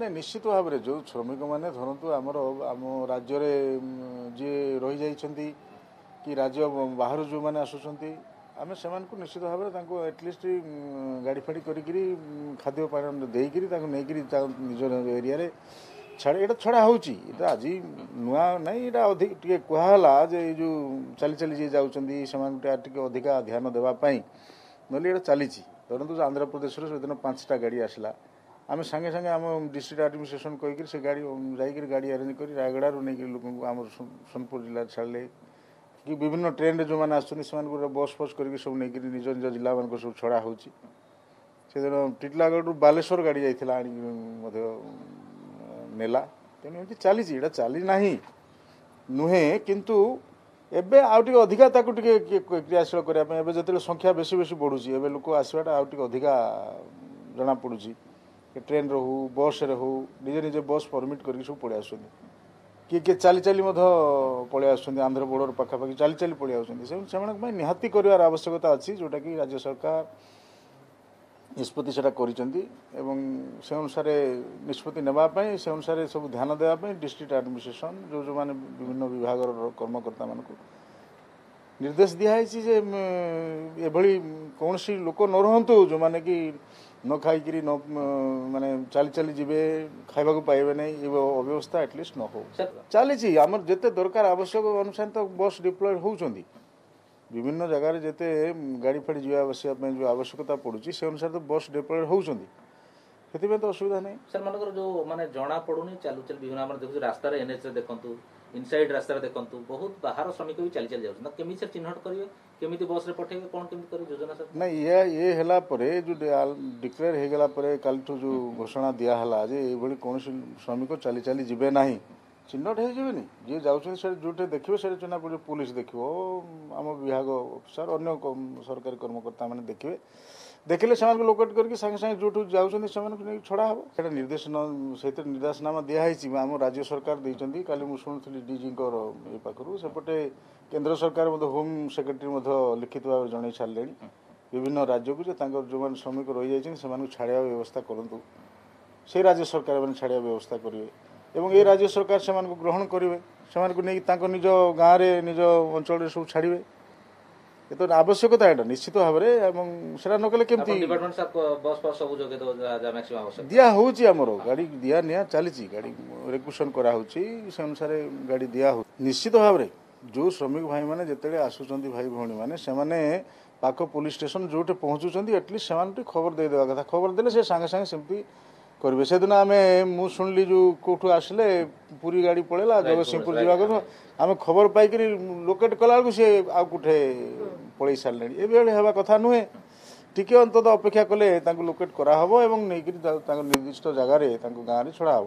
ନାଇଁ, ନିଶ୍ଚିତ ଭାବରେ ଯେଉଁ ଶ୍ରମିକମାନେ ଧରନ୍ତୁ ଆମର ଆମ ରାଜ୍ୟରେ ଯିଏ ରହିଯାଇଛନ୍ତି କି ରାଜ୍ୟ ବାହାରୁ ଯେଉଁମାନେ ଆସୁଛନ୍ତି, ଆମେ ସେମାନଙ୍କୁ ନିଶ୍ଚିତ ଭାବରେ ତାଙ୍କୁ ଆଟଲିଷ୍ଟ ଗାଡ଼ି ଫାଡ଼ି କରିକିରି, ଖାଦ୍ୟ ପାନୀୟ ଦେଇକିରି, ତାଙ୍କୁ ନେଇକିରି ନିଜ ଏରିଆରେ ଛାଡ଼ି, ଏଇଟା ଛଡ଼ା ହେଉଛି। ଏଇଟା ଆଜି ନୂଆ ନାହିଁ। ଏଇଟା ଅଧିକ ଟିକେ କୁହାହେଲା ଯେ ଏଇ ଯେଉଁ ଚାଲି ଚାଲି ଯିଏ ଯାଉଛନ୍ତି, ସେମାନଙ୍କୁ ଟିକେ ଅଧିକା ଧ୍ୟାନ ଦେବା ପାଇଁ। ନହେଲେ ଏଇଟା ଚାଲିଛି। ଧରନ୍ତୁ ଆନ୍ଧ୍ରପ୍ରଦେଶରୁ ସେଦିନ 5ଟା ଗାଡ଼ି ଆସିଲା, ଆମେ ସାଙ୍ଗେ ସାଙ୍ଗେ ଆମ ଡିଷ୍ଟ୍ରିକ୍ଟ ଆଡମିନିଷ୍ଟ୍ରେସନ କହିକିରି ସେ ଗାଡ଼ି ଯାଇକିରି ଗାଡ଼ି ଆରେଞ୍ଜ କରି ରାୟଗଡ଼ାରୁ ନେଇକିରି ଲୋକଙ୍କୁ ଆମର ସୋନପୁର ଜିଲ୍ଲାରେ ଛାଡ଼ିଲେ କି ବିଭିନ୍ନ ଟ୍ରେନରେ ଯେଉଁମାନେ ଆସୁଛନ୍ତି, ସେମାନଙ୍କୁ ବସ୍ ଫସ୍ କରିକି ସବୁ ନେଇକିରି ନିଜ ନିଜ ଜିଲ୍ଲାମାନଙ୍କୁ ସବୁ ଛଡ଼ା ହେଉଛି। ସେଦିନ ଟିଟଲାଗଡ଼ରୁ ବାଲେଶ୍ୱର ଗାଡ଼ି ଯାଇଥିଲା, ଆଣିକି ମଧ୍ୟ ନେଲା। ତେଣୁ ଏମିତି ଚାଲିଛି। ଏଇଟା ଚାଲି ନାହିଁ ନୁହେଁ, କିନ୍ତୁ ଏବେ ଆଉ ଟିକେ ଅଧିକା ତାକୁ ଟିକେ କ୍ରିୟାଶୀଳ କରିବା ପାଇଁ, ଏବେ ଯେତେବେଳେ ସଂଖ୍ୟା ବେଶୀ ବେଶୀ ବଢ଼ୁଛି, ଏବେ ଲୋକ ଆସିବାଟା ଆଉ ଟିକେ ଅଧିକା ଜଣାପଡ଼ୁଛି। ଟ୍ରେନ୍ରେ ହଉ, ବସ୍ରେ ହଉ, ନିଜେ ନିଜେ ବସ୍ ପରମିଟ୍ କରିକି ସବୁ ପଳେଇ ଆସୁଛନ୍ତି। କିଏ କିଏ ଚାଲି ଚାଲି ମଧ୍ୟ ପଳେଇ ଆସୁଛନ୍ତି, ଆନ୍ଧ୍ର ବର୍ଡ଼ର ପାଖାପାଖି ଚାଲି ଚାଲି ପଳେଇ ଆସୁଛନ୍ତି। ସେମାନଙ୍କ ପାଇଁ ନିହାତି କରିବାର ଆବଶ୍ୟକତା ଅଛି, ଯେଉଁଟାକି ରାଜ୍ୟ ସରକାର ନିଷ୍ପତ୍ତି ସେଟା କରିଛନ୍ତି ଏବଂ ସେ ଅନୁସାରେ ନିଷ୍ପତ୍ତି ନେବା ପାଇଁ, ସେ ଅନୁସାରେ ସବୁ ଧ୍ୟାନ ଦେବା ପାଇଁ ଡିଷ୍ଟ୍ରିକ୍ଟ ଆଡମିନିଷ୍ଟ୍ରେସନ ଯେଉଁ ଯେଉଁମାନେ ବିଭିନ୍ନ ବିଭାଗର କର୍ମକର୍ତ୍ତାମାନଙ୍କୁ ନିର୍ଦ୍ଦେଶ ଦିଆହେଇଛି ଯେ ଏଭଳି କୌଣସି ଲୋକ ନ ରୁହନ୍ତୁ, ଯେଉଁମାନେ କି ନ ଖାଇକିରି ନ ମାନେ ଚାଲି ଚାଲି ଯିବେ, ଖାଇବାକୁ ପାଇବେ ନାହିଁ। ଏ ଅବ୍ୟବସ୍ଥା ଆଟଲିଷ୍ଟ ନ ହଉ। ଚାଲିଛି ଆମର, ଯେତେ ଦରକାର ଆବଶ୍ୟକ ଅନୁସାରେ ତ ବସ୍ ଡିପ୍ଲୟ ହେଉଛନ୍ତି। ବିଭିନ୍ନ ଜାଗାରେ ଯେତେ ଗାଡ଼ି ଫାଡ଼ି ଯିବା ଆସିବା ପାଇଁ ଯେଉଁ ଆବଶ୍ୟକତା ପଡ଼ୁଛି, ସେ ଅନୁସାରେ ତ ବସ୍ ଡିପ୍ଲୟ ହେଉଛନ୍ତି। ସେଥିପାଇଁ ତ ଅସୁବିଧା ନାହିଁ। ସାର୍, ମନେକର ଯୋଉ ମାନେ ଜଣା ପଡୁନି, ଚାଲୁ ଚାଲୁ ବିଭିନ୍ନ ଆମର ଦେଖୁଛୁ ରାସ୍ତାରେ, ଏନ୍ଏଚ୍ ରେ ଦେଖନ୍ତୁ, ଇନସାଇଡ୍ ରାସ୍ତାରେ ଦେଖନ୍ତୁ, ବହୁତ ବାହାର ଶ୍ରମିକ ବି ଚାଲି ଚାଲି ଯାଉଛନ୍ତି। କେମିତି ସାର୍ ଚିହ୍ନଟ କରିବେ? କେମିତି ବସ୍ରେ ପଠେଇବେ? କ'ଣ କେମିତି କରିବେ ଯୋଜନା ସାର୍? ନାଇଁ, ଇଏ ହେଲା ପରେ, ଯେଉଁ ଡିକ୍ଲେୟାର ହେଇଗଲା ପରେ, କାଲିଠୁ ଯେଉଁ ଘୋଷଣା ଦିଆହେଲା ଯେ ଏଇଭଳି କୌଣସି ଶ୍ରମିକ ଚାଲି ଚାଲି ଯିବେ ନାହିଁ, ଚିହ୍ନଟ ହେଇଯିବେନି? ଯିଏ ଯାଉଛନ୍ତି ସେଠି ଯେଉଁଠି ଦେଖିବେ, ସେଠି ଚିହ୍ନା ପଡ଼ିବ। ପୋଲିସ ଦେଖିବ, ଆମ ବିଭାଗ ଅଫିସର, ଅନ୍ୟ ସରକାରୀ କର୍ମକର୍ତ୍ତା ମାନେ ଦେଖିବେ। ଦେଖିଲେ ସେମାନଙ୍କୁ ଲୋକେଟ୍ କରିକି ସାଙ୍ଗେ ସାଙ୍ଗେ ଯେଉଁଠୁ ଯାଉଛନ୍ତି, ସେମାନଙ୍କୁ ନେଇକି ଛଡ଼ା ହେବ। ସେଇଟା ନିର୍ଦ୍ଦେଶ, ସେଇଥିରେ ନିର୍ଦ୍ଦେଶନାମା ଦିଆହେଇଛି, ଆମ ରାଜ୍ୟ ସରକାର ଦେଇଛନ୍ତି। କାଲି ମୁଁ ଶୁଣୁଥିଲି ଡିଜିଙ୍କର ଏ ପାଖରୁ, ସେପଟେ କେନ୍ଦ୍ର ସରକାର ମଧ୍ୟ, ହୋମ୍ ସେକ୍ରେଟାରୀ ମଧ୍ୟ ଲିଖିତ ଭାବରେ ଜଣାଇ ସାରିଲେଣି ବିଭିନ୍ନ ରାଜ୍ୟକୁ ଯେ ତାଙ୍କର ଯେଉଁମାନେ ଶ୍ରମିକ ରହିଯାଇଛନ୍ତି, ସେମାନଙ୍କୁ ଛାଡ଼ିବା ବ୍ୟବସ୍ଥା କରନ୍ତୁ। ସେଇ ରାଜ୍ୟ ସରକାର ମାନେ ଛାଡ଼ିବା ବ୍ୟବସ୍ଥା କରିବେ ଏବଂ ଏ ରାଜ୍ୟ ସରକାର ସେମାନଙ୍କୁ ଗ୍ରହଣ କରିବେ, ସେମାନଙ୍କୁ ନେଇକି ତାଙ୍କ ନିଜ ଗାଁରେ, ନିଜ ଅଞ୍ଚଳରେ ସବୁ ଛାଡ଼ିବେ। ଏ ତ ଆବଶ୍ୟକତା ଏଇଟା ନିଶ୍ଚିତ ଭାବରେ ଏବଂ ସେଟା ନ କଲେ କେମିତି? ଡିପାର୍ଟମେଣ୍ଟ ବସ୍ ଫସ୍ ସବୁ ଯୋଗେଇ ଦେବ ଯାହା ମ୍ୟାକ୍ସିମମ୍ ଆବଶ୍ୟକ? ଦିଆ ହେଉଛି, ଆମର ଗାଡ଼ି ଦିଆ ନିଆ ଚାଲିଛି। ଗାଡ଼ି ରେକୁସନ୍ କରାହେଉଛି, ସେ ଅନୁସାରେ ଗାଡ଼ି ଦିଆ ହେଉଛି। ନିଶ୍ଚିତ ଭାବରେ ଯେଉଁ ଶ୍ରମିକ ଭାଇମାନେ ଯେତେବେଳେ ଆସୁଛନ୍ତି, ଭାଇ ଭଉଣୀମାନେ, ସେମାନେ ପାଖ ପୋଲିସ ଷ୍ଟେସନ ଯେଉଁଠି ପହଞ୍ଚୁଛନ୍ତି, ଆଟଲିଷ୍ଟ ସେମାନଙ୍କୁ ଟିକେ ଖବର ଦେଇଦେବା କଥା। ଖବର ଦେଲେ ସେ ସାଙ୍ଗେ ସାଙ୍ଗେ ସେମିତି କରିବେ। ସେଦିନ ଆମେ ମୁଁ ଶୁଣିଲି ଯେଉଁ କେଉଁଠୁ ଆସିଲେ, ପୁରୀ ଗାଡ଼ି ପଳେଇଲା, ଜଗତସିଂହପୁର ଯିବା କଥା। ଆମେ ଖବର ପାଇକିରି ଲୋକେଟ୍ କଲା ବେଳକୁ ସେ ଆଉ କୋଉଠି ପଳେଇ ସାରିଲେଣି। ଏଭଳି ହେବା କଥା ନୁହେଁ। ଟିକେ ଅନ୍ତତଃ ଅପେକ୍ଷା କଲେ ତାଙ୍କୁ ଲୋକେଟ୍ କରାହେବ ଏବଂ ନେଇକିରି ତାଙ୍କ ନିର୍ଦ୍ଦିଷ୍ଟ ଜାଗାରେ, ତାଙ୍କ ଗାଁରେ ଛଡ଼ା ହେବ।